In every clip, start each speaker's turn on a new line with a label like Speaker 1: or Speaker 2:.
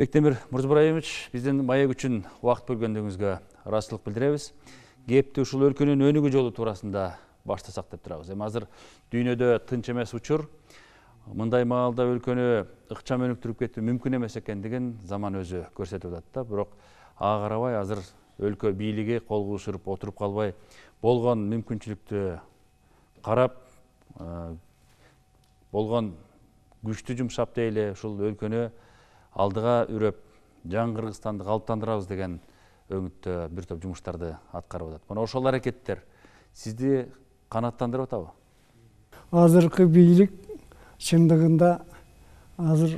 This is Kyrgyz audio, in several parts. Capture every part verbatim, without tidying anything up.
Speaker 1: Бектемир Мурзабраимович, биздин маек үчүн убакыт бөлгөндүгүңүзгө ыраазычылык билдиребиз. Кепти ушул өлкөнүн өнүгүү жолу туурасында баштасак деп турабыз. Эми азыр дүйнөдө тынч эмес учур. Мындай маалда өлкөнү ыкчам өнүктүрүп кетүү мүмкүн эмес экендигин заман өзү көрсөтүп атат да. Бирок ага карабай азыр өлкө бийлиги кол куушуруп отуруп калбай, болгон мүмкүнчүлүктү карап, болгон күчтү жумшап дейли ушул өлкөнү алдыга үрөп, жаңы Кыргызстанды калыптандырабыз деген өңүттө бир топ жумуштарды аткарып атат. Мына ошол аракеттер сизди канааттандырып атабы?
Speaker 2: Азыркы бийлик чындыгында азыр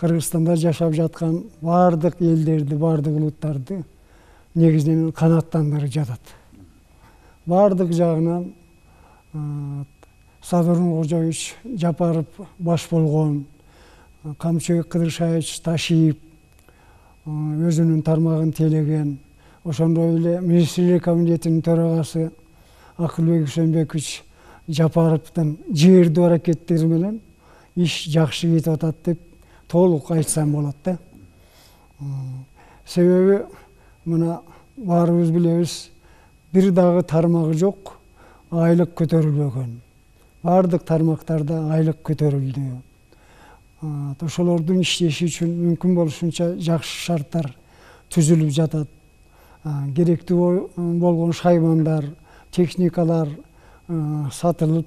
Speaker 2: Кыргызстанда жашап жаткан бардык элдерди, бардык улуттарды негизинен канааттандырып жатат. Бардык жагынан Садыр Нуркожоевич Жапаров баш болгон, Камчыбек Кыдыршаевич Ташиев өзүнүн тармагын тейлеген, ошондой эле министрлер комитетинин төрагасы Акылбек Үсөнбекович Жапаровдун жибердүү аракеттери менен иш жакшы кетип атат деп толук айтсам болот да. Себеби мына баарыбыз билебиз, бир дагы тармагы жок, айлык көтөрүлбөгөн. Бардык тармактарда айлык көтөрүлдү. Ошолордун иштеши үчүн мүмкүн болушунча жакшы шарттар түзүлүп жатат. Керектүү болгон шаймандар, техникалар сатылып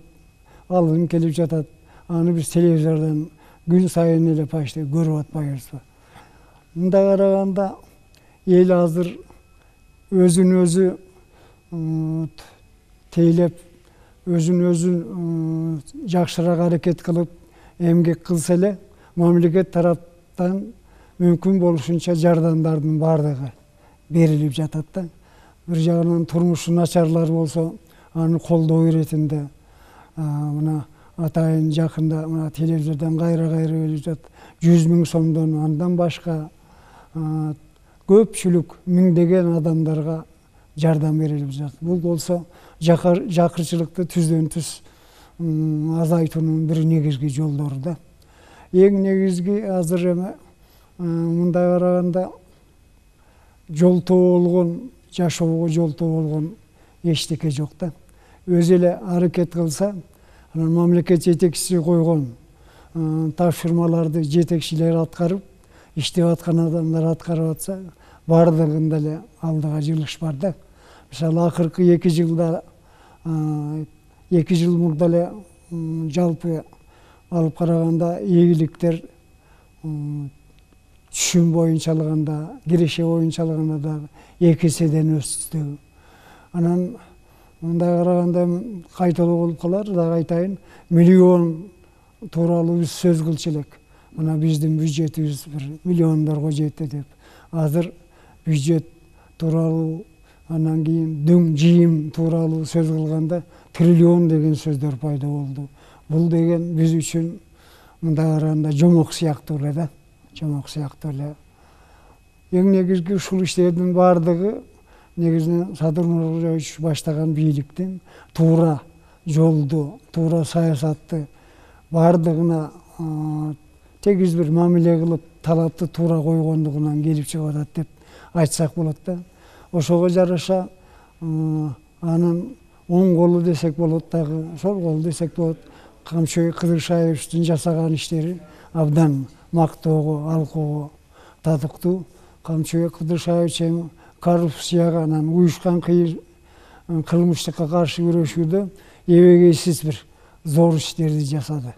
Speaker 2: алынып келип жатат. Аны биз телевизордон күн сайын эле почти көрүп атпайбызбы? Мындай караганда эл азыр өзүн өзү тейлеп, өзүн өзү жакшыраак аракет кылып эмгек кылса эле, мамлекет тараптан мүмкүн болушунча жардамдардын бардыгы берилип жатат да. Бир жагынан турмушу начарлар болсо, аны колдоо иретинде мына атайын жакында мына телевизордон кайра-кайра берип жатат. жүз миң сомдон андан башка көпчүлүк миңдеген адамдарга жардам берилип жатат. Бул болсо жакырчылыкты түздөн түз азайтуунун бир негизги жолдору да. Эң негизги азыр эми мындай караганда жолтоо болгон, жашоого жолтоо болгон эчтеке жок да. Өзү эле аракет кылса, анан мамлекет жетекчиси койгон тапшырмаларды жетекчилер аткарып, иштеп аткан адамдар аткарып атса, бардыгында эле алдыга жылыш бар да. Мисалы, акыркы эки жылда, эки жыл мурда эле жалпы алып караганда ийгиликтер түшүм боюнча алганда, киреше боюнча алганда дагы эки эседен өстү. Анан мындай караганда кайталоо болуп калар, дагы айтайын, миллион тууралуу биз сөз кылчу элек. Мына биздин бюджетибиз бир миллиондорго жетти деп. Азыр бюджет тууралуу, анан кийин дөң жыйым тууралуу сөз кылганда триллион деген сөздөр пайда болду. Бул деген биз үчүн мындай караганда жомок сыяктуу эле да. Жомок сыяктуу эле. Эң негизги ушул иштердин бардыгы негизинен Садыр Нуркожоевич баштаган бийликтин туура жолду, туура саясатты бардыгына тегиз бир мамиле кылып, талапты туура койгондугунан келип чыгып атат деп айтсак болот да. Ошого жараша анын оң колу десек болот, дагы сол кол десек болот. Камчыбек Кыдыршаевичтин жасаган иштери абдан мактоого, алкоого татыктуу. Камчыбек Кыдыршаевич эми коррупцияга, анан уюшкан кылмыштыкка каршы күрөшүүдө эбегейсиз бир зор иштерди жасады.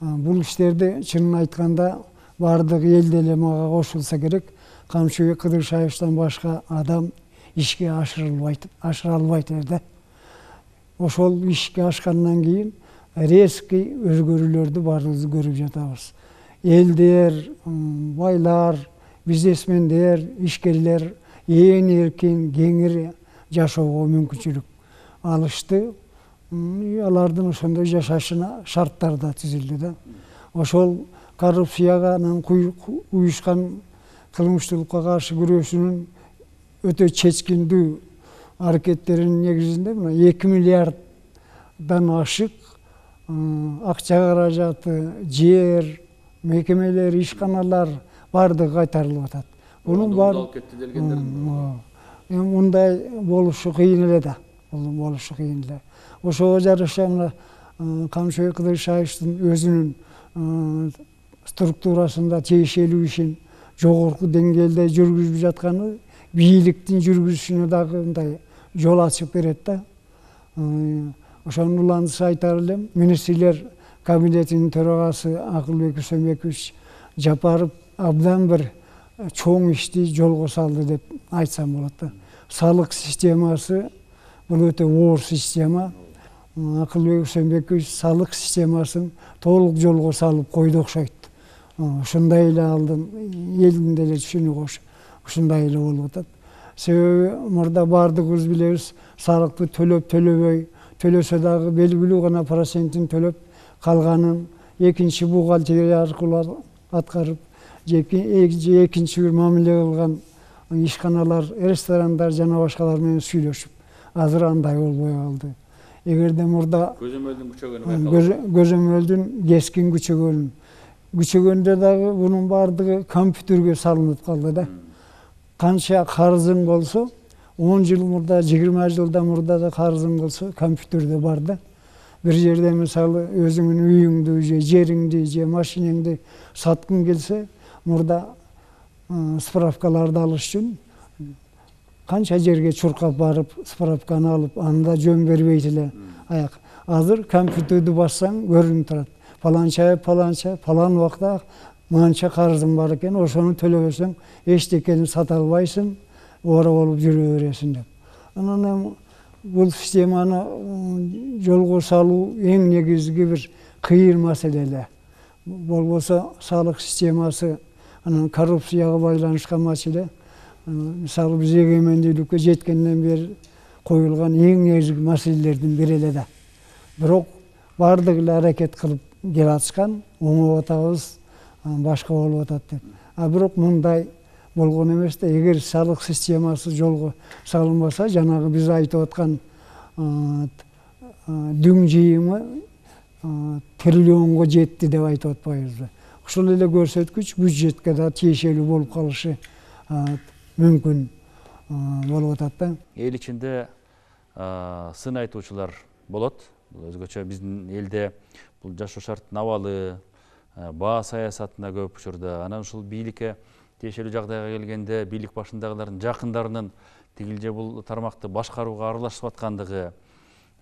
Speaker 2: Бул иштерди чынын айтканда бардык эл деле мага кошулса керек, Камчыбек Кыдыршаевичтен башка адам ишке ашырылбайт, ашыра албайт эле да. Ошол ишке ашкандан кийин резкий өзгөрүүлөрдү баарыбыз көрүп жатабыз. Элдер, байлар, бизнесмендер, ишкерлер ээн эркин, кеңири жашоого мүмкүнчүлүк алышты. Алардын ошондой жашашына шарттар да түзүлдү да. Ошол коррупцияга, анан уюшкан кылмыштуулукка каршы күрөшүүнүн өтө чечкиндүү аракеттеринин негизинде мына эки миллиарддан ашык акча каражаты, жер, мекемелер, ишканалар баардыгы кайтарылып атат. Мунун баары
Speaker 1: кетти делгендер.
Speaker 2: Эми мындай болушу кыйын эле да. Бул болушу кыйын эле. Ошого жараша мына Камчыбек Кыдыршаевдин өзүнүн структурасында тиешелүү ишин жогорку деңгээлде жүргүзүп жатканы бийликтин жүргүзүшүнө дагы мындай жол ачып берет да. Ошонун улантысы айтар элем, министрлер кабинетинин төрагасы Акылбек Үсөнбекович Жапаров абдан бир чоң ишти жолго салды деп айтсам болот да. Салык системасы бул өтө оор система. Акылбек Үсөнбекович салык системасын толук жолго салып койду окшойт. Ушундай эле алдын элдин деле түшүнүгү ушундай эле болуп атат. Себеби мурда баардыгыбыз билебиз, салыкты төлөп төлөбөй, төлөсө дагы белгилүү гана процентин төлөп калганын экинчи бухгалтерия аркылуу аткарып, экинчи бир мамиле кылган ишканалар, ресторандар жана башкалар менен сүйлөшүп, азыр андай болбой калды. Эгерде мурда
Speaker 1: көзөмөлдүн күчөгөнү байкалат.
Speaker 2: Көзөмөлдүн кескин күчөгөнү күчөгөндө дагы бунун баардыгы компьютерге салынып калды да. Канча карызың болсо, он жыл мурда, жыйырма жылдан мурда да карызың болсо, компьютерде бар да. Бир жерде мисалы өзүңүн үйүңдү, же жериңди, же машинеңди саткың келсе, мурда справкаларды алыш үчүн канча жерге чуркап барып, справканы алып, анда жөн бербейт эле аяк. Азыр компьютерди бассаң көрүнүп турат. Паланча, паланча, палан убакта манча карызың бар экен, ошону төлөбөсөң эчтекени сата албайсың, ора болуп жүрө бересиң деп. Анан эми бул системаны жолго салуу эң негизги бир кыйын маселе эле. Болбосо салык системасы анан коррупцияга байланышкан маселе. Мисалы биз эгемендүүлүккө жеткенден бери коюлган эң негизги маселелердин бири эле да. Бирок баардыгы эле аракет кылып келатышкан, оңоп атабыз, башка болуп атат деп. А бирок мындай болгон эмес да. Эгер салык системасы жолго салынбаса, жанагы биз айтып аткан дүң жыйымы триллионго жетти деп айтып атпайбызбы? Ошол эле көрсөткүч бюджетке да тиешелүү болуп калышы мүмкүн болуп атат да.
Speaker 1: Эл ичинде сын айтуучулар болот. Бул өзгөчө биздин элде бул жашоо шарттын абалы, баа саясатына көп учурда, анан ушул бийликке тиешелүү жагдайга келгенде бийлик башындагылардын жакындарынын тигил же бул тармакты башкарууга аралашып аткандыгы,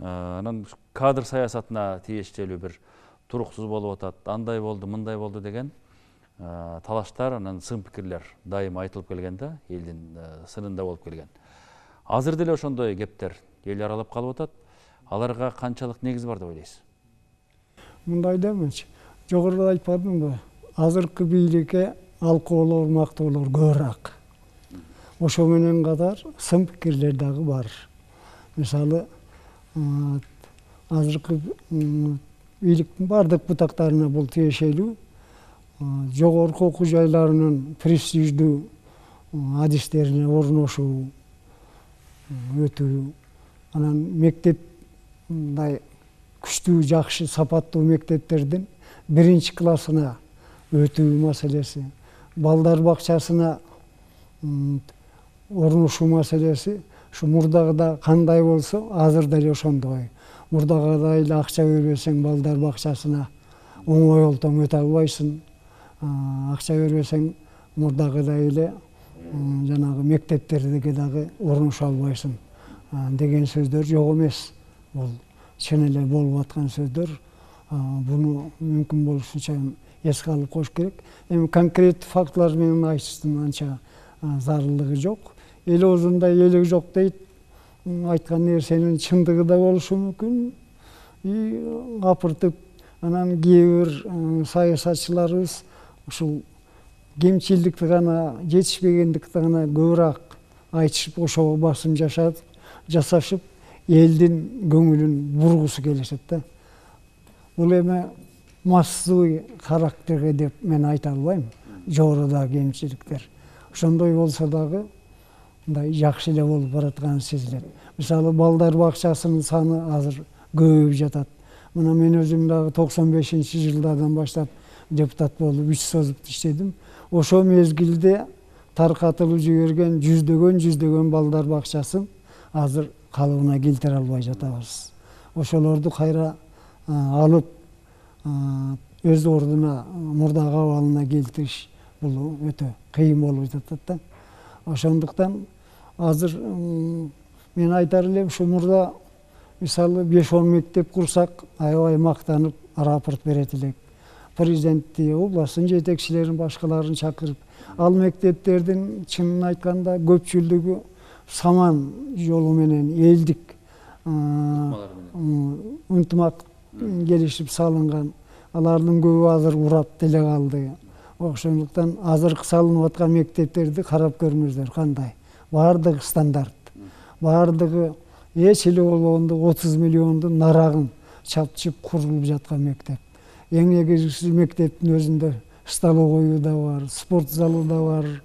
Speaker 1: анан кадр саясатына тиешелүү бир туруксуз болуп атат, андай болду, мындай болду деген талаштар, анан сын пикирлер дайым айтылып келген да, элдин сынында болуп келген. Азыр деле ошондой кептер эл аралап калып атат. Аларга канчалык негиз бар деп ойлойсуз?
Speaker 2: Мындай да эмес. Жогоруда айтпадымбы? Азыркы бийликке алкоолор, мактоолор көбүрөөк. Ошо менен катар сын пикирлер дагы бар. Мисалы, азыркы бийликтин бардык бутактарына бул тиешелүү. Жогорку окуу жайларынын престиждүү адистерине орношуу, өтүү, анан мектеп мындай күчтүү, жакшы, сапаттуу мектептердин биринчи классына өтүү маселеси, балдар бакчасына орношуу маселеси, ушу мурдагыда кандай болсо, азыр деле ошондой. Мурдагыдай эле акча бербесең балдар бакчасына оңой олтоң өтө албайсың. Акча бербесең мурдагыдай эле жанагы мектептерге дагы орношо албайсың деген сөздөр жок эмес. Бул чын эле болуп аткан сөздөр. Буну мүмкүн болушунча эске алып коюш керек. Эми конкрет фактылар менен айтыштын анча зарылдыгы жок. Эл оозунда элек жок дейт. Айткан нерсенин чындыгы да болушу мүмкүн. И капыртып анан кээ бир саясатчыларыбыз ушул кемчилдикти гана, жетишпегендикти гана көбүрөөк айтышып, ошого басым жашап, жасашып, элдин көңүлүн бургусу келишет да. Бул эми массовый характерге деп мен айта албайм. Жогорудагы кемчиликтер. Ошондой болсо дагы мындай жакшы эле болуп баратканы сезилет. Мисалы, балдар бакчасынын саны азыр көбөйүп жатат. Мына мен өзүм дагы токсон бешинчи жылдардан баштап депутат болуп үч созуп иштедим. ошол мезгилде таркатылып жиберген жүздөгөн жүздөгөн балдар бакчасын азыр калыбына келтире албай жатабыз. Ошолорду кайра алып өз ордуна мурдагы абалына келтириш бул өтө кыйын болуп жатат да. Ошондуктан азыр мен айтар элем, ушу мурда мисалы беш он мектеп курсак аябай мактанып рапорт берет элек. Президентти, областтын жетекчилерин, башкаларын чакырып, ал мектептердин чынын айтканда көпчүлүгү саман жолу менен элдик ынтымак келишип салынган. Алардын көбү азыр урап деле калды. Ошондуктан азыркы салынып аткан мектептерди карап көрүңүздөр кандай. Баардыгы стандарт. Баардыгы эч эле болгондо отуз миллиондун нарагын чапчып курулуп жаткан мектеп. Эң негизгиси мектептин өзүндө столовойу да бар, спорт залу да бар,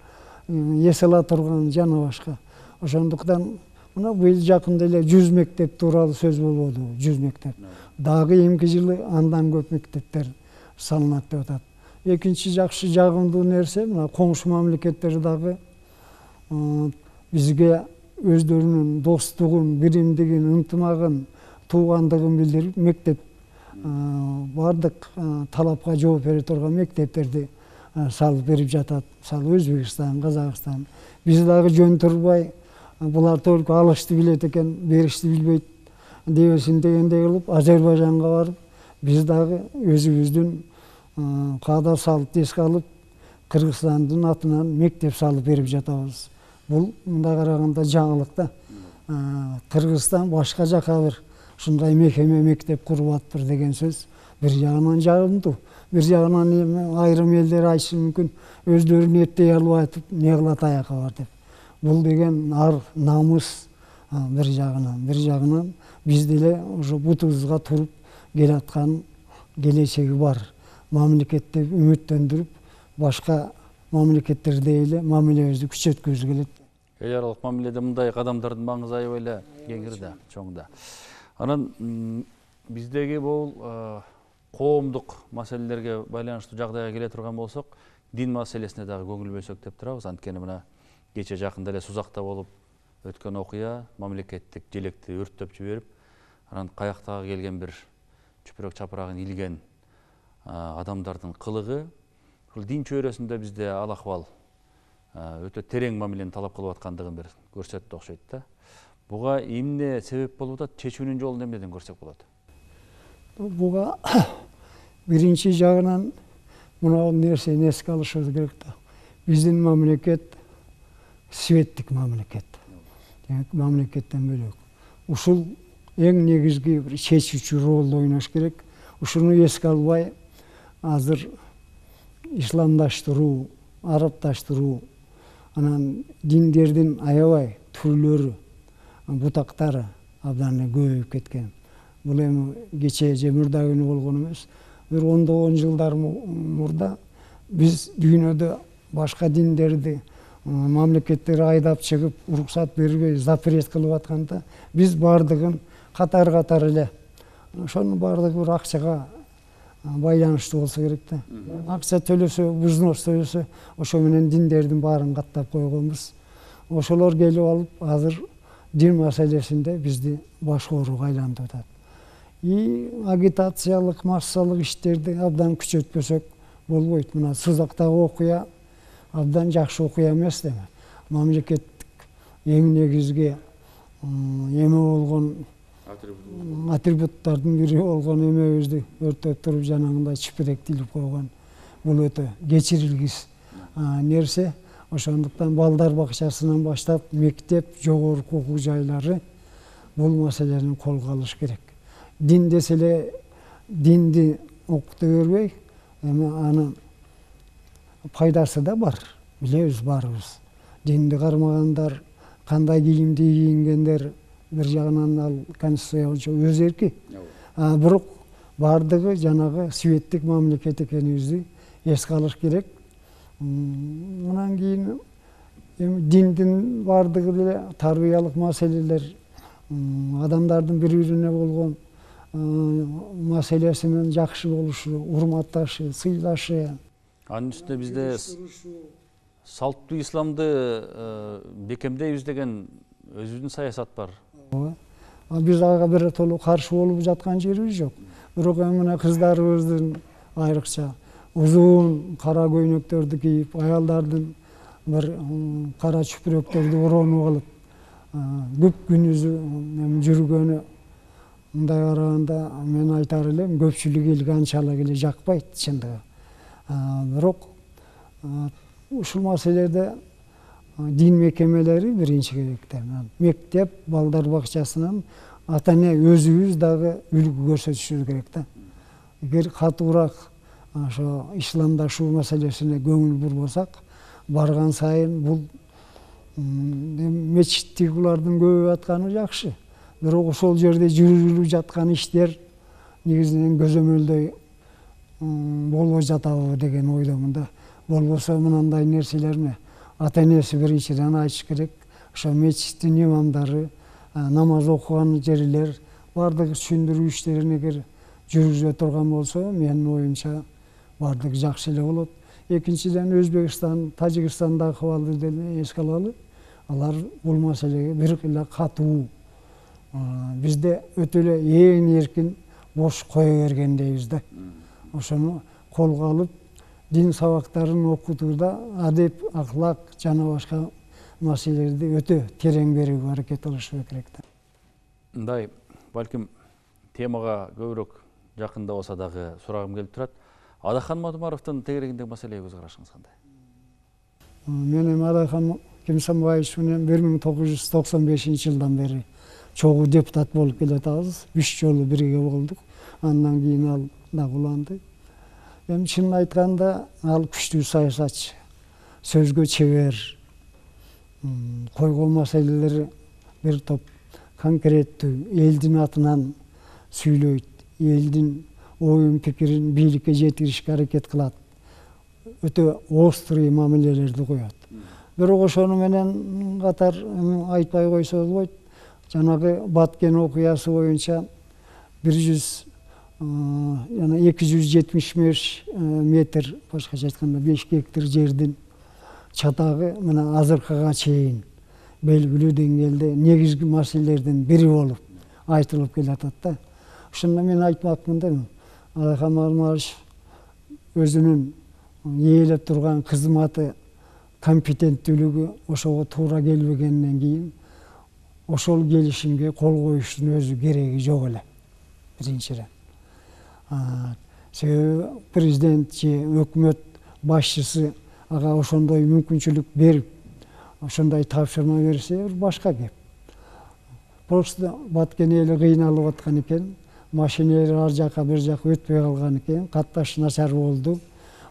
Speaker 2: эс ала турган жана башка. Ошондуктан мына быйыл жакында эле жүз мектеп тууралуу сөз болбоду, жүз мектеп. Дагы эмки жылы андан көп мектептер салынат деп атат. Экинчи жакшы жагымдуу нерсе, мына коңшу мамлекеттер дагы бизге өздөрүнүн достугун, биримдигин, ынтымагын, туугандыгын билдирип, мектеп бардык талапка жооп бере турган мектептерди салып берип жатат. Мисалы Өзбекстан, Казакстан. Биз дагы жөн турбай, булар только алышты билет экен, беришти билбейт дебесин дегендей кылып Азербайжанга барып, биз дагы өзүбүздүн каада салып эске алып, Кыргызстандын атынан мектеп салып берип жатабыз. Бул мындай караганда жаңылык да. Кыргызстан башка жака бир ушундай мекеме, мектеп куруп атыптыр деген сөз бир жагынан жагымдуу. Бир жагынан айрым элдер айтышы мүмкүн, өздөрүн эттей албай атып, не кылат аяка бар деп. Бул деген ар намыс бир жагынан, бир жагынан биз деле уже бутубузга туруп келаткан келечеги бар. Мамлекетти үмүттөндүрүп, башка мамлекеттерде эле мамилебизди күчөткүбүз келет.
Speaker 1: Эл аралык мамиледе мындай кадамдардын маңызы аябай эле кеңир да, чоң да. Анан биздеги бул коомдук маселелерге байланыштуу жагдайга келе турган болсок, дин маселесине дагы көңүл бөлсөк деп турабыз. Анткени мына кече жакында эле Сузакта болуп өткөн окуя мамлекеттик желекти өрттөп жиберип, анан каяктагы келген бир чүпүрөк чапырагын илген адамдардын кылыгы, бул дин чөйрөсүндө бизде ал акыбал өтө терең мамилени талап кылып аткандыгын бир көрсөттү окшойт да. Буга эмне себеп болуп атат? Чечүүнүн жолун эмнеден көрсөк болот?
Speaker 2: Буга биринчи жагынан мына нерсени эске алышыбыз керек да. Биздин мамлекет светтик мамлекет. Мамлекеттен бөлөк. Ушул эң негизги бир чечүүчү ролду ойнош керек. Ушуну эске албай азыр исламдаштыруу, арабдаштыруу, анан диндердин аябай түрлөрү, бутактары абдан эле көбөйүп кеткен. Бул эми кече же мурда күнү болгон эмес. Бир ондогон жылдар мурда биз дүйнөдө башка диндерди мамлекеттер айдап чыгып, уруксат бербей, запрет кылып атканда, биз бардыгын катар-катар эле ошонун бардыгы бир акчага байланыштуу болсо керек да. Акча төлөсө, взнос төлөсө, ошо менен диндердин баарын каттап койгонбуз. Ошолор келип алып, азыр дин маселесинде бизди баш ооруга айлантып атат. И агитациялык, массалык иштерди абдан күчөтпөсөк болбойт. Мына Сузактагы окуя абдан жакшы окуя эмес деме. Мамлекеттик эң негизги эме болгон атрибуттардын бири болгон эмебизди өртөп туруп жанагындай чүпүрөктү илип койгон. Бул өтө кечирилгис нерсе. Ошондуктан балдар бакчасынан баштап мектеп, жогорку окуу жайлары бул маселени колго алыш керек. Дин десе эле динди окута бербей, эми анын пайдасы да бар. Билебиз баарыбыз. Динди кармагандар, кандай кийимди кийингендер, бир жагынан ал конституция боюнча өз эрки. Бирок бардыгы жанагы светтик мамлекет экенибизди эске алыш керек. Мындан кийин эми диндин бардыгы деле тарбиялык маселелер, адамдардын бири-бирине болгон маселесинин жакшы болушу, урматташы, сыйлашы.
Speaker 1: Анын үстүнө бизде салттуу исламды бекемдейбиз деген өзүбүздүн саясат бар.
Speaker 2: Биз ага биротоло каршы болуп жаткан жерибиз жок. Бирок мына кыздарыбыздын айрыкча узун кара көйнөктөрдү кийип, аялдардын бир кара чүпүрөктөрдү оронуп алып, көп күнүзү жүргөнү, мындай караганда мен айтар элем, көпчүлүк элге анчалык эле жакпайт чындыгы. Бирок ушул маселеде дин мекемелери биринчи керекте. Мектеп, балдар бакчасынан ата эне өзүбүз дагы үлгү көрсөтүшүбүз керек да. Эгер катуураак ошо исламдашуу маселесине көңүл бурбасак, барган сайын бул мечиттигилардын көбөйүп атканы жакшы. Бирок ошол жерде жүрүлүп жаткан иштер негизинен көзөмөлдөй болбой жатабы деген ойдомун да. Болбосо мындай нерселерне ата энеси биринчиден айтыш керек. Ошо мечиттин имамдары, намаз окуган жерлер баардык түшүндүрүү иштерин эгер жүргүзө турган болсо, менин оюмча баардыгы жакшы эле болот. Экинчиден, Өзбекстан, Тажикстандагы акыбалды деле эске алалы. Алар бул маселеге бир эле катуу, бизде өтө эле ээн эркин бош кое бергендейбиз да. Ошону колго алып, дин сабактарын окутууда адеп, аклак жана башка маселелерди өтө терең берүүгө аракет кылышы керек да.
Speaker 1: Мындай, балким темага көбүрөөк жакында болсо дагы сурагым келип турат. Адахан Мадумаровдун тегерегиндеги маселеге көз карашыңыз кандай?
Speaker 2: Мен эми Адахан Кемсанбаевич менен бир миң тогуз жүз токсон бешинчи жылдан бери чогуу депутат болуп келатабыз. Үч жолу бирге болдук. Андан кийин ал дагы уланды. Эми чынын айтканда ал күчтүү саясатчы, сөзгө чебер, койгон маселелери бир топ конкреттүү, элдин атынан сүйлөйт, элдин оюн пикирин бийликке жеткиришке аракет кылат, өтө острый мамилелерди коет. Бирок ошону менен катар айтпай койсо болбойт. Жанагы Баткен окуясы боюнча бир жүз жана эки жүз жетимиш беш метр, башкача айтканда беш гектар жердин чатагы мына азыркыга чейин белгилүү деңгээлде негизги маселелердин бири болуп айтылып келатат да. Ошондо мен айтмакмын да, Адахан Мадумарович өзүнүн ээлеп турган кызматы, компетенттүүлүгү ошого туура келбегенден кийин ошол келишимге кол коюштун өзү кереги жок эле. Биринчиден. Себеби президент же өкмөт башчысы ага ошондой мүмкүнчүлүк берип, ошондой тапшырма берсе башка кеп. Просто Баткен эли кыйналып аткан экен, машинелер ар жака бир жака өтпөй калган экен, катташ начар болду.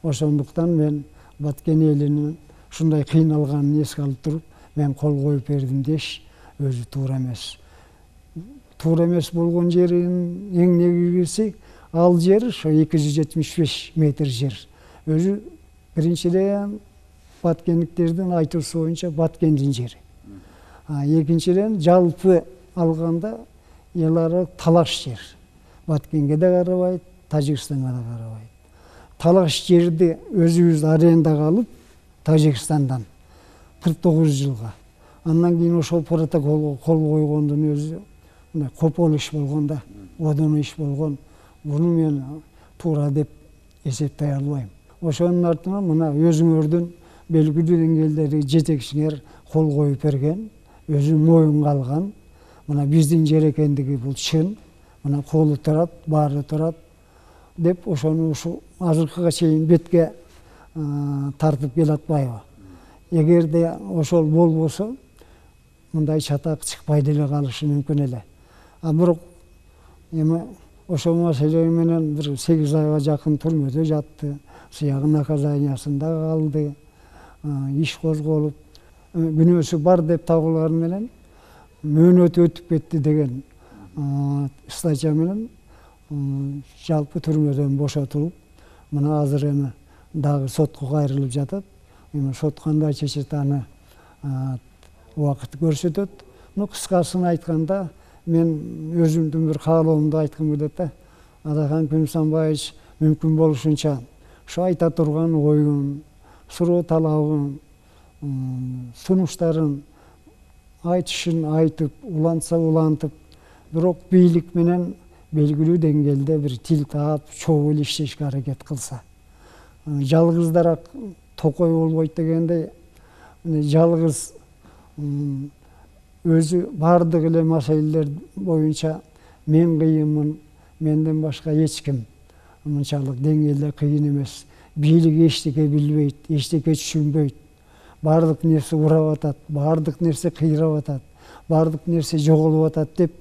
Speaker 2: Ошондуктан мен Баткен элинин ушундай кыйналганын эске алып туруп, мен кол коюп бердим деш өзү туура эмес. Туура эмес болгон жеринин эң негизгиси ал жер ошо эки жүз жетимиш беш метр жер. Өзү биринчиден баткендиктердин айтуусу боюнча Баткендин жери. Экинчиден жалпы алганда эл аралык талаш жер. Баткенге да карабайт, Тажикстанга да карабайт. Талаш жерди өзүбүз арендага алып, Тажикстандан кырк тогуз жылга. Андан кийин ошол протоколго кол койгондун өзү мындай копол иш болгон да, одон иш болгон. Буну мен туура деп эсептей албайм. Ошонун артынан мына өзүңөрдүн белгилүү деңгээлдеги жетекчиңер кол коюп берген, өзү моюнга алган. Мына биздин жер экендиги бул чын. Мына колу турат, баары турат деп ошону ушу азыркыга чейин бетке тартып келатпайбы. Эгерде ошол болбосо, мындай чатак чыкпай деле калышы мүмкүн эле. А бирок эми ошол маселе менен бир сегиз айга жакын түрмөдө жатты, сыягы наказаниясында калды, иш козголуп, күнөөсү бар деп табылганы менен мөөнөтү өтүп кетти деген статья менен жалпы түрмөдөн бошотулуп, мына азыр эми дагы сотко кайрылып жатат. Эми сот кандай чечет аны убакыт көрсөтөт. Ну, кыскасын айтканда, мен өзүмдүн бир каалоомду айткым келет да. Адахан Кемсанбаевич мүмкүн болушунча ушу айта турган оюн, суроо талабын, сунуштарын айтышын айтып, улантса улантып, бирок бийлик менен белгилүү деңгээлде бир тил таап, чогуу эле иштешке аракет кылса. Жалгыздарак токой болбойт дегендей, жалгыз өзү бардык эле маселелер боюнча мен кыйынмын, менден башка эч ким мынчалык деңгээлде кыйын эмес. Бийлик эчтеке билбейт, эчтеке түшүнбөйт. Бардык нерсе урап атат, бардык нерсе кыйрап атат, бардык нерсе жоголуп атат деп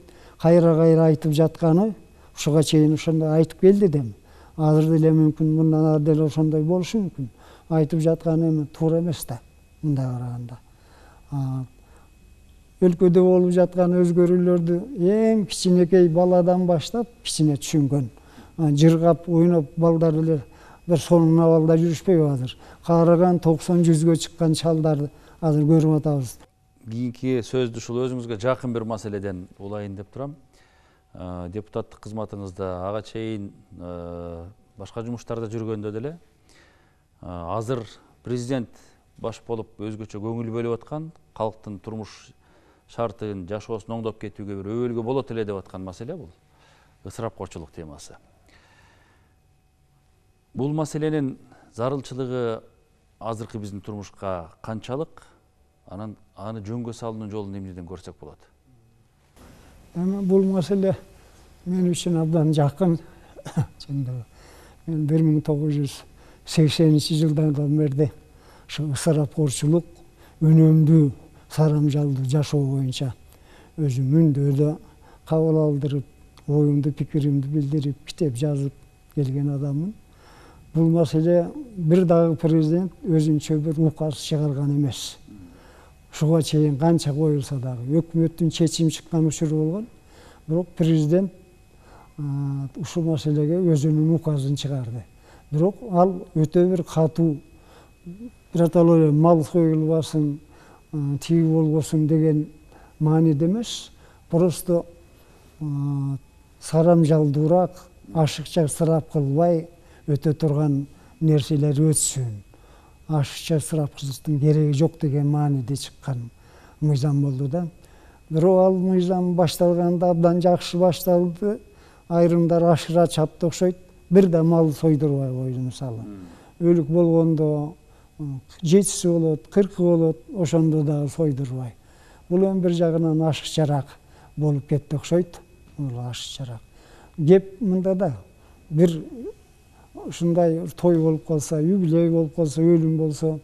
Speaker 2: кайра-кайра айтып жатканы ушуга чейин ошондой айтып келди дем. Азыр деле мүмкүн мындан ары деле ошондой болушу мүмкүн. Айтып жатканы эми туура эмес да, мындай караганда. Өлкөдө болуп жаткан өзгөрүүлөрдү эң кичинекей баладан баштап кичине түшүнгөн. Жыргап, ойноп балдар эле бир сонун абалда жүрүшпөйбү азыр. Карыган токсон жүзгө чыккан чалдарды азыр көрүп атабыз.
Speaker 1: Кийинки сөздү ушул өзүңүзгө жакын бир маселеден улайын деп турам. Депутаттык кызматыңызда ага чейин башка жумуштарда жүргөндө деле азыр президент баш болуп өзгөчө көңүл бөлүп аткан, калктын турмуш шартын, жашоосун оңдоп кетүүгө бир өбөлгө болот эле деп аткан маселе бул ысырапкорчулук темасы. Бул маселенин зарылчылыгы азыркы биздин турмушка канчалык, анан аны жөнгө салуунун жолун эмнеден көрсөк болот?
Speaker 2: Эми бул маселе мен үчүн абдан жакын. Мен бир миң тогуз жүз сексенинчи жылдардан бери ушу ысырапкорчулук, үнөмдүү, сарамжалдуу жашоо боюнча өзүм мүндөөдө кабыл алдырып, оюмду, пикиримди билдирип, китеп жазып келген адаммын. Бул маселе бир дагы президент өзүнчө бир указ чыгарган эмес. Ушуга чейин канча коюлса дагы өкмөттүн чечим чыккан учуру болгон. Бирок президент ушул маселеге өзүнүн указын чыгарды. Бирок ал өтө бир катуу, биротоло мал союлбасын, тиги болбосун деген мааниде эмес, просто сарамжалдуураак, ашыкча ысырап кылбай өтө турган нерселер өтсүн. Ашыкча ысырап кылыштын кереги жок деген мааниде чыккан мыйзам болду да. Бирок ал мыйзам башталганда абдан жакшы башталды. Айрымдар ашыра чапты окшойт. Бир да мал сойдурбай койду мисалы. Өлүк болгондо жетиси болот, кыркы болот, ошондо дагы сойдурбай. Бул эми бир жагынан ашыкчараак болуп кетти окшойт. Бул ашыкчараак. Кеп мында да бир ушундай той болуп калса, юбилей болуп калса, өлүм болсо,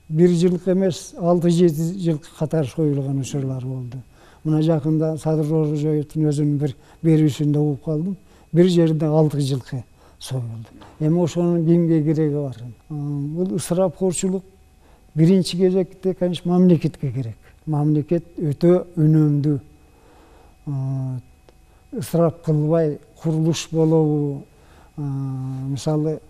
Speaker 2: бир жылкы эмес, алты жети жылкы катар союлган учурлар болду. Мына жакында Садыр Орозоевдун өзүнүн бир берүүсүндө угуп калдым. Бир жерде алты жылкы союлду. Эми ошонун кимге кереги бар? Бул ысырапкорчулук биринчи кезекте, конечно, мамлекетке керек. Мамлекет өтө үнөмдүү, ысырап кылбай курулуш болобу, мисалы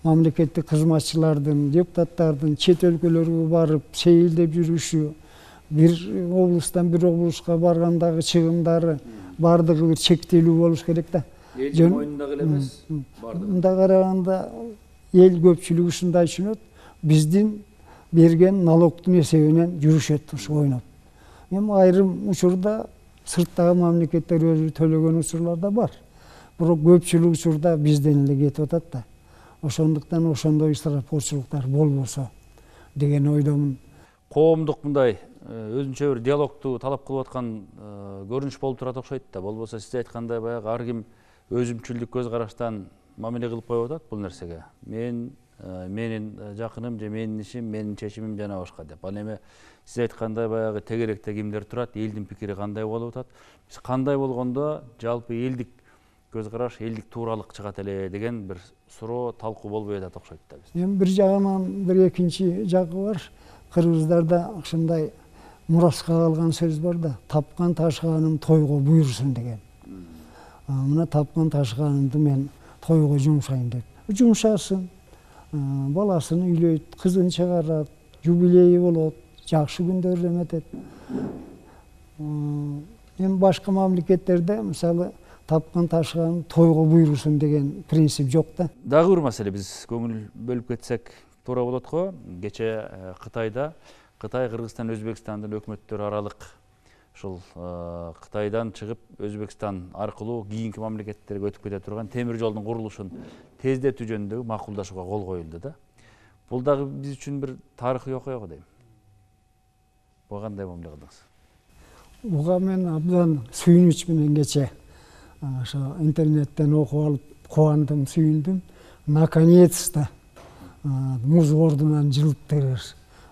Speaker 2: мамлекеттик кызматчылардын, депутаттардын чет өлкөлөргө барып сейилдеп жүрүшү, бир облустан бир облуска баргандагы чыгымдары бардыгы бир чектелүү болуш керек да.
Speaker 1: Элдин мойнундагы эле эмес, бардыгы.
Speaker 2: Мындай караганда эл көпчүлүгү ушундай түшүнөт, биздин берген налогдун эсебинен жүрүшөт ушу ойноп. Эми айрым учурда сырттагы мамлекеттер өзү төлөгөн учурлар да бар. Бирок көпчүлүк учурда бизден эле кетип атат да. Ошондуктан ошондой ысырапкорчулуктар болбосо деген ойдомун.
Speaker 1: Коомдук мындай өзүнчө бир диалогду талап кылып аткан көрүнүш болуп турат окшойт да. Болбосо сиз айткандай баягы ар ким өзүмчүлдүк көз караштан мамиле кылып коюп атат бул нерсеге. Мен, менин жакыным же менин ишим, менин чечимим жана башка деп. Ал эми сиз айткандай баягы тегеректе кимдер турат, элдин пикири кандай болуп атат? Биз кандай болгондо жалпы элдик көз караш, элдик тууралык чыгат эле деген бир суроо, талкуу болбой атат окшойт да биз.
Speaker 2: Эми бир жагынан бир экинчи жагы бар. Кыргыздарда ушундай мураска калган сөз бар да, тапкан ташканым тойго буйрусун деген. Мына тапкан ташканымды мен тойго жумшайм деп. Жумшасын, баласын үйлөйт, кызын чыгарат, юбилейи болот, жакшы күндөрдө эметет. Эми башка мамлекеттерде мисалы тапкан ташыган тойго буйрусун деген принцип жок да.
Speaker 1: Дагы бир маселе, биз көңүл бөлүп кетсек туура болот го. Кече Кытайда Кытай, Кыргызстан, Өзбекстандын өкмөттөрү аралык ушул Кытайдан чыгып Өзбекстан аркылуу кийинки мамлекеттерге өтүп кете турган темир жолдун курулушун тездетүү жөнүндө макулдашууга кол коюлду да. Бул дагы биз үчүн бир тарыхый окуя го дейм. Буга кандай мамиле кылдыңыз?
Speaker 2: Буга мен абдан сүйүнүч менен кече ошо интернеттен окуп алып кубандым, сүйүндүм. Наконец-то муз ордунан жылыптыр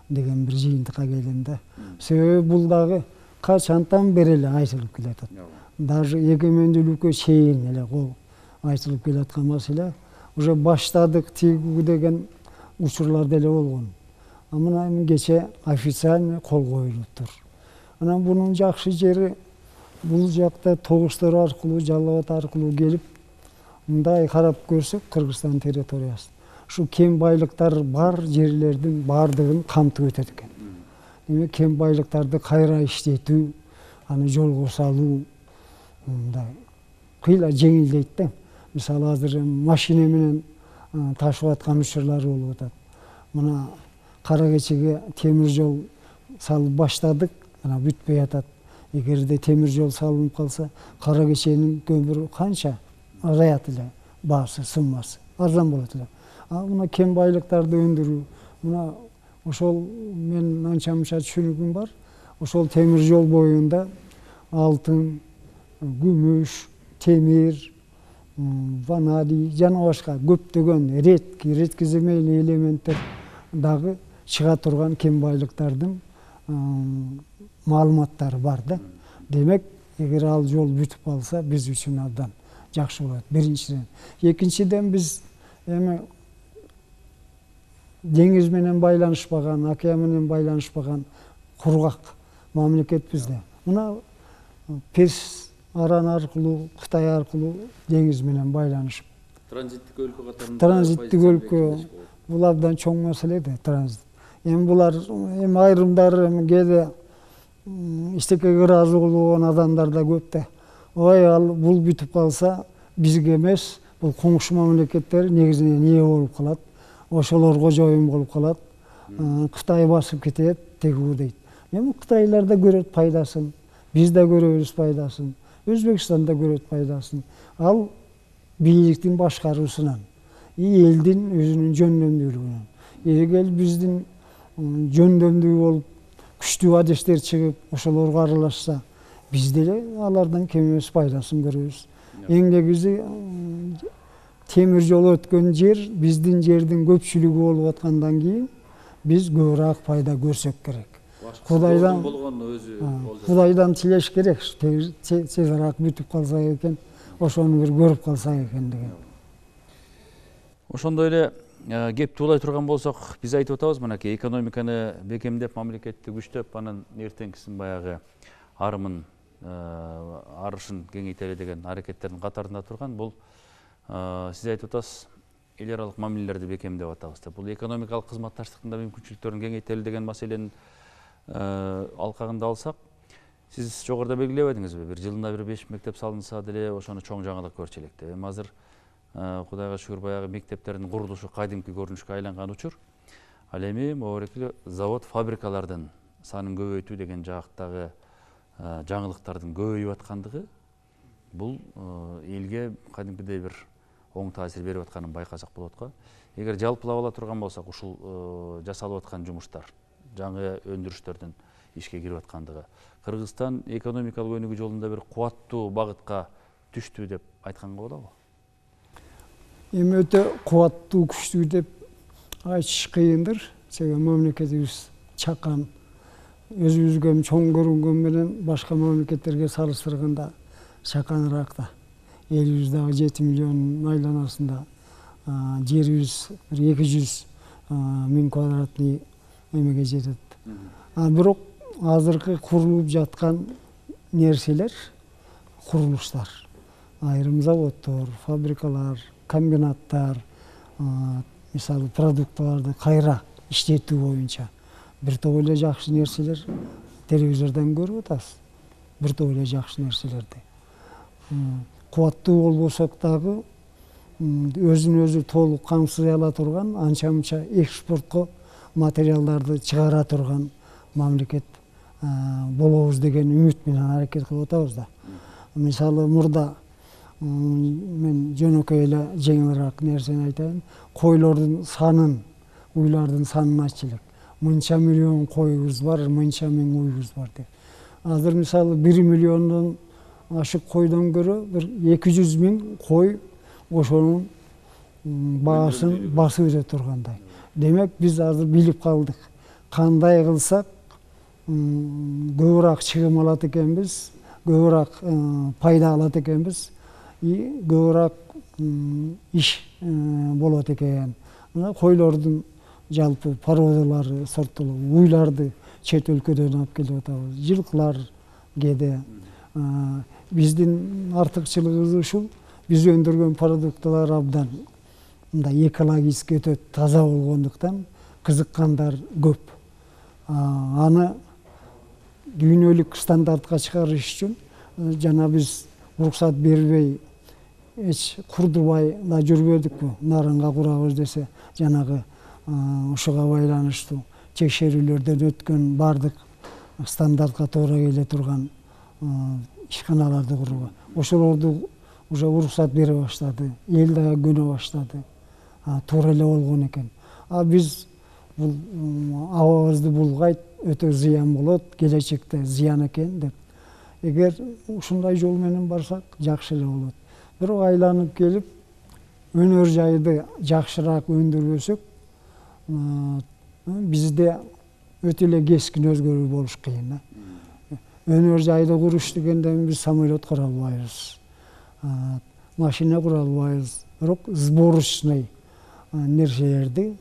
Speaker 2: деген бир жыйынтыкка келдим да. Себеби бул дагы качантан бери эле айтылып келатат. Даже эгемендүүлүккө чейин эле кол айтылып келаткан маселе. Уже баштадык тигүү деген учурлар деле болгон. А мына кече официально кол коюлуптур. Анан бунун жакшы жери бул жакта тогуштор аркылуу, Жалал Абад аркылуу келип, мындай карап көрсөк, Кыргызстан территориясы ушу кен байлыктар бар жерлердин баардыгын камтып өтөт экен. Демек кен байлыктарды кайра иштетүү, аны жолго салуу мындай кыйла жеңилдейт да. Мисалы азыр машина менен ташып аткан учурлар болуп атат. Мына кара кечеге темир жол салып баштадык, ана бүтпөй атат. Эгерде темир жол салынып калса, кара кеченин көмүрү канча азаят эле, баасы, сыммасы арзан болот эле. А мына кен байлыктарды өндүрүү, мына ошол мен анча мынча түшүнүгүм бар. Ошол темир жол боюнда алтын, күмүш, темир, ванадий жана башка көптөгөн редкий, редкоземельный элементтер дагы чыга турган кен байлыктардын маалыматтары бар да. Демек, эгер ал жол бүтүп калса, биз үчүн абдан жакшы болот. Биринчиден. Экинчиден, биз эми деңиз менен байланышпаган, океан менен байланышпаган кургак мамлекетпиз да. Мына Перс араны аркылуу, Кытай аркылуу деңиз менен байланышып.
Speaker 1: Транзиттик өлкө катарында.
Speaker 2: Транзиттик өлкө бул абдан чоң маселе да, транзит. Эми булар эми айрымдары эми кээде иштекеге ыраазы болгон адамдар да көп да. Ой, ал бул бүтүп калса, бизге эмес, бул коңшу мамлекеттер негизинен ээ болуп калат. Ошолор кожоюн болуп калат. Кытай басып кетет, тегүү дейт. Эми кытайлар да көрөт пайдасын, биз да көрөбүз пайдасын, Өзбекстан да көрөт пайдасын. Ал бийликтин башкаруусунан, элдин өзүнүн жөндөмдүүлүгүнөн. Эгер биздин жөндөмдүү болуп, күчтүү адестер чыгып, ошолорго аралашса, биз деле алардан кем эмес пайдасын көрөбүз. Эң негизи темир жол өткөн жер, биздин жердин көпчүлүгү болуп аткандан кийин биз көбүрөөк пайда көрсөк керек. Кудайдан Кудайдан тилеш керек. Тезирээк бүтүп калса экен, ошону бир көрүп калсак экен деген.
Speaker 1: Ошондой эле кепти улай турган болсок, биз айтып атабыз, мынакей экономиканы бекемдеп, мамлекетти күчтөп, анын эртеңкисин баягы арымын, арышын кеңейтели деген аракеттердин катарында турган. Бул сиз айтып атасыз, эл аралык мамилелерди бекемдеп атабыз деп. Бул экономикалык кызматташтыктын да мүмкүнчүлүктөрүн кеңейтели деген маселенин алкагында алсак, сиз жогоруда белгилебедиңизби? Бир жылына бир беш мектеп салынса деле ошону чоң жаңылык көрчү элек деп. Эми азыр Кудайга шүгүр баягы мектептердин курулушу кайдимки көрүнүшкө айланган учур. Ал эми могу завод, фабрикалардын санын көбөйтүү деген жактагы жаңылыктардын көбөйүп аткандыгы бул элге кадимкидей бир оң таасир берип атканын байкасак болот го. Эгер жалпылап ала турган болсок, ушул жасалып аткан жумуштар, жаңы өндүрүштөрдүн ишке кирип аткандыгы, Кыргызстан экономикалык өнүгүү жолунда бир кубаттуу багытка түштү деп айтканга болобу?
Speaker 2: Эми өтө кубаттуу, күчтүү деп айтыш кыйындыр. Себеби мамлекетибиз чакан, өзүбүзгө чоң көрүнгөн менен башка мамлекеттерге салыштырганда чаканыраак да. Элибиз дагы жети миллион айланасында, жерибиз бир эки жүз миң квадратный эмеге жетет. А бирок азыркы курулуп жаткан нерселер, курулуштар, айрым заводдор, фабрикалар, комбинаттар, мисалы продуктыларды кайра иштетүү боюнча бир топ эле жакшы нерселер телевизордон көрүп атабыз. Бир топ эле жакшы нерселерди. кубаттуу болбосок дагы өзүн өзү толук камсыз ала турган, анча мынча экспортко материалдарды чыгара турган мамлекет болобуз деген үмүт менен аракет кылып атабыз да. Мисалы мурда мен жөнөкөй эле жеңилирээк нерсени айтайын. Койлордун санын, уйлардын санын айтчу элек. Мынча миллион коюбуз бар, мынча миң уйубуз бар деп. Азыр мисалы бир миллиондон ашык койдон көрө бир эки жүз миң кой ошонун баасын басып өтө тургандай. Демек биз азыр билип калдык. Кандай кылсак көбүрөөк чыгым алат экенбиз, көбүрөөк пайда алат экенбиз, көбүрөөк иш болот экен. Мына койлордун жалпы породалары сорттолуп, уйларды чет өлкөдөн алып келип атабыз. Жылкылар кээде биздин артыкчылыгыбыз ушул. Биз өндүргөн продукталар абдан мындай экологически өтө таза болгондуктан кызыккандар көп. Аны дүйнөлүк стандартка чыгарыш үчүн жана биз уруксат бербей эч курдубай да жүрбөдүкпү. Нарынга курабыз десе, жанагы ушуга байланыштуу текшерүүлөрдөн өткөн бардык стандартка туура келе турган ишканаларды курууга. Ошолорду уже уруксат бере баштады, эл дагы көнө баштады. Туура эле болгон экен. А биз бул абабызды булгайт, өтө зыян болот, келечекте зыян экен деп. Эгер ушундай жол менен барсак, жакшы эле болот. Бирок айланып келип, өнөр жайды жакшыраак өндүрбөсөк, бизде өтө эле кескин өзгөрүү болуш кыйын. Өнөр жайды куруш дегенден биз самолет кура албайбыз, машина кура албайбыз. Бирок сборочный нерселерди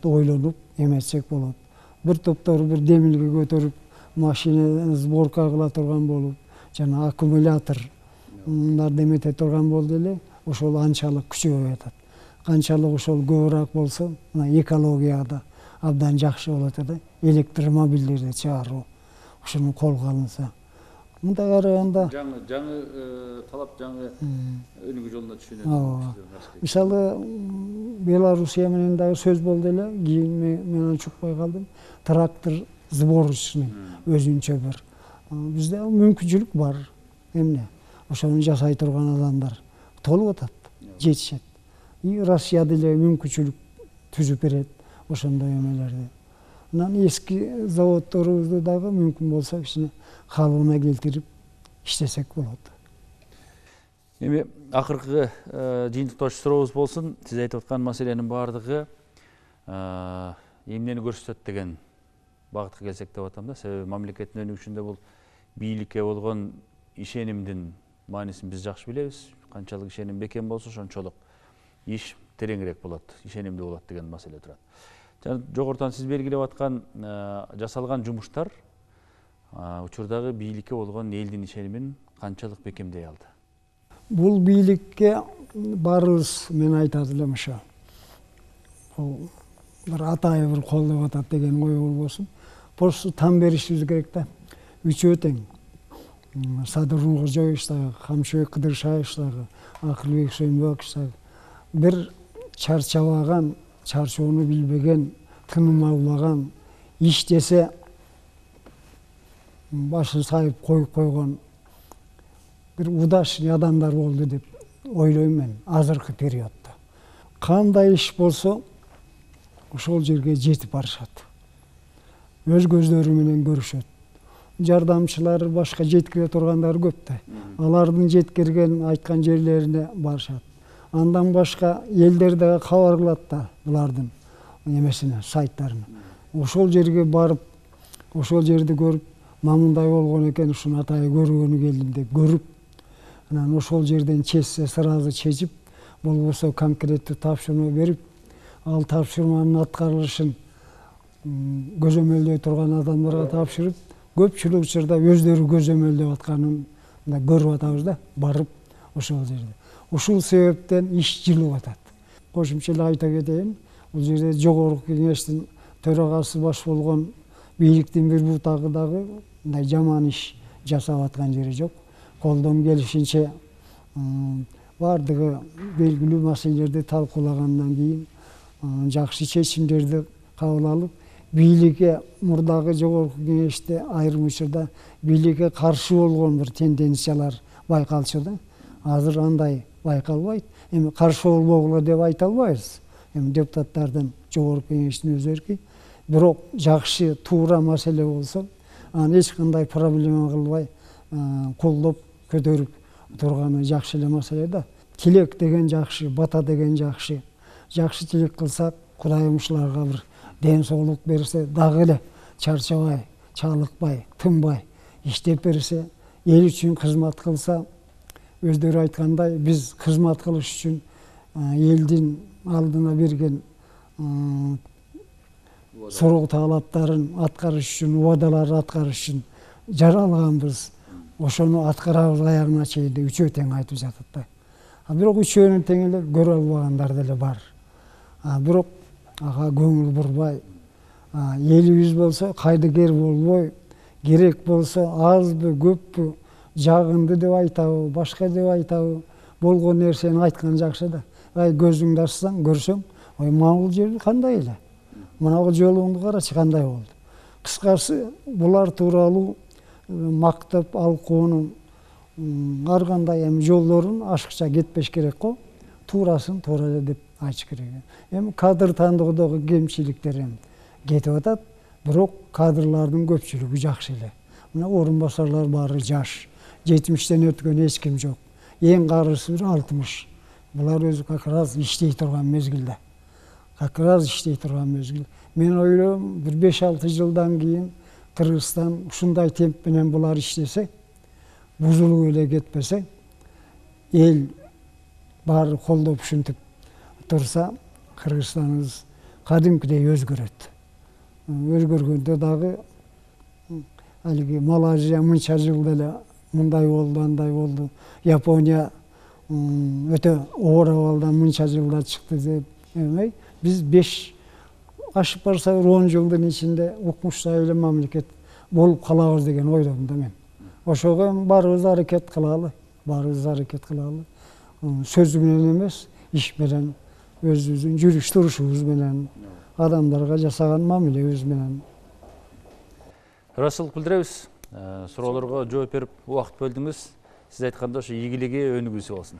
Speaker 2: ойлонуп эметсек болот. Бир топтор бир демилге көтөрүп машина сборка кыла турган болуп, жана аккумулятор мындарды эмете турган болду эле, ошол анчалык күчөбөй атат. Канчалык ошол көбүрөөк болсо, мына экологияда абдан жакшы болот да. Электромобилдерди чыгаруу ушуну колго алынса. Мындай караганда
Speaker 1: жаңы жаңы талап жаңы өнүгүү жолуна түшүнөт.
Speaker 2: Мисалы Белоруссия менен дагы сөз болду эле, кийин мен аны чукпай калдым. Трактор сборочный өзүнчө бир. Бизде мүмкүнчүлүк бар. Эмне? Ошону жасай турган адамдар толуп атат, жетишет. И Россия деле мүмкүнчүлүк түзүп берет ошондой эмелерди. Анан эски заводдорубузду дагы мүмкүн болсо кичине калыбына келтирип иштесек болот.
Speaker 1: Эми акыркы жыйынтыктоочу сурообуз болсун. Сиз айтып аткан маселенин баардыгы эмнени көрсөтөт деген багытка келсек деп атам да. Себеби мамлекеттин өнүгүшүндө бул бийликке болгон ишенимдин маанисин биз жакшы билебиз. Канчалык ишеним бекем болсо, ошончолук иш тереңирээк болот, ишенимдүү болот деген маселе турат. Жана жогорудан сиз белгилеп аткан жасалган жумуштар учурдагы бийликке болгон элдин ишенимин канчалык бекемдей алды?
Speaker 2: Бул бийликке баарыбыз мен айтат элем ошо. Бул бир атайы бир колдоп атат деген ой болбосун. Просто там беришибиз керек да. Үчөө тең. Садыр Нуркожоевич дагы, Камчыбек Кыдыршаевич дагы, Акылбек Сүйүнбекович дагы бир чарчабаган, чарчоону билбеген, тыным албаган, иш десе башын сайып коюп койгон бир удачный адамдар болду деп ойлойм мен азыркы периоддо. Кандай иш болсо ошол жерге жетип барышат. Өз көздөрү менен көрүшөт. Жардамчылар, башка жеткире тургандар көп да. Алардын жеткирген, айткан жерлерине барышат. Андан башка элдер дагы кабар кылат да булардын эмесине, сайттарына. Ошол жерге барып, ошол жерди көрүп, мамындай болгон экен, ушуну атайы көргөнү келдим деп көрүп, анан ошол жерден чечсе сразу чечип, болбосо конкреттүү тапшырма берип, ал тапшырманын аткарылышын көзөмөлдөй турган адамдарга тапшырып, көпчүлүк учурда өздөрү көзөмөлдөп атканын да көрүп атабыз да, барып ошол жерде. Ушул себептен иш жылып атат. Кошумча эле айта кетейин, бул жерде жогорку кеңештин төрагасы баш болгон бийликтин бир бутагы дагы мындай жаман иш жасап аткан жери жок. Колдон келишинче баардыгы белгилүү маселелерди талкуулагандан кийин жакшы чечимдерди кабыл алып, бийликке мурдагы жогорку кеңеште айрым учурда бийликке каршы болгон бир тенденциялар байкалчу да. Азыр андай байкалбайт. Эми каршы болбогула деп айта албайбыз. Эми депутаттардын жогорку кеңештин өзү эрки. Бирок жакшы, туура маселе болсо, аны эч кандай проблема кылбай колдоп көтөрүп турганы жакшы эле маселе да. Тилек деген жакшы, бата деген жакшы. Жакшы тилек кылсак, Кудайым ушуларга бир ден соолук берсе, дагы эле чарчабай, чалыкпай, тынбай иштеп берсе, эл үчүн кызмат кылса, өздөрү айткандай, биз кызмат кылыш үчүн элдин алдына берген суроо талаптарын аткарыш үчүн, убадаларды аткарыш үчүн жаралганбыз. Ошону аткарабыз аягына чейин деп үчөө тең айтып жатат да. А бирок үчөөнүн тең эле көрө албагандар деле бар. А бирок ага көңүл бурбай, элибиз болсо кайдыгер болбой, керек болсо азбы, көппү, жагынды деп айтабы, башка деп айтабы, болгон нерсени айткан жакшы да. Ай көзүңдү ачсаң, көрсөң, ой маңыл жери кандай эле. Мына жолуңду карачы кандай болду. Кыскасы, булар тууралуу мактап алкоонун ар кандай эми жолдорун ашыкча кетпеш керек го. Туурасын туура эле деп айтыш керек. Эми кадр тандоодогу кемчиликтер эми кетип атат, бирок кадрлардын көпчүлүгү жакшы эле. Мына орун басарлар баары жаш, жетимиштен өткөн эч ким жок. Эң карысы бир алтымыш. Булар өзү как раз иштей турган мезгилде. Как раз иштей турган мезгил. Мен ойлойм, бир беш алты жылдан кийин Кыргызстан ушундай темп менен булар иштесе, бузулуп эле кетпесе, эл баары колдоп ушинтип турса, Кыргызстаныбыз кадимкидей өзгөрөт. Өзгөргөндө дагы алиги Малайзия мынча жылда эле мындай болду, андай болду. Япония өтө оор абалдан мынча жылда чыкты деп эмей, биз беш ашып барса бир он жылдын ичинде укмуштуу эле мамлекет болуп калабыз деген ойдомун да мен. Ошого баарыбыз аракет кылалы, баарыбыз аракет кылалы. Сөз менен эмес, иш менен, өзүбүздүн жүрүш турушубуз менен, адамдарга жасаган мамилебиз менен.
Speaker 1: Ыраазычылык билдиребиз. Суроолорго жооп берип убакыт бөлдүңүз. Сиз айткандай ошо ийгилиги өнүгүүсү болсун.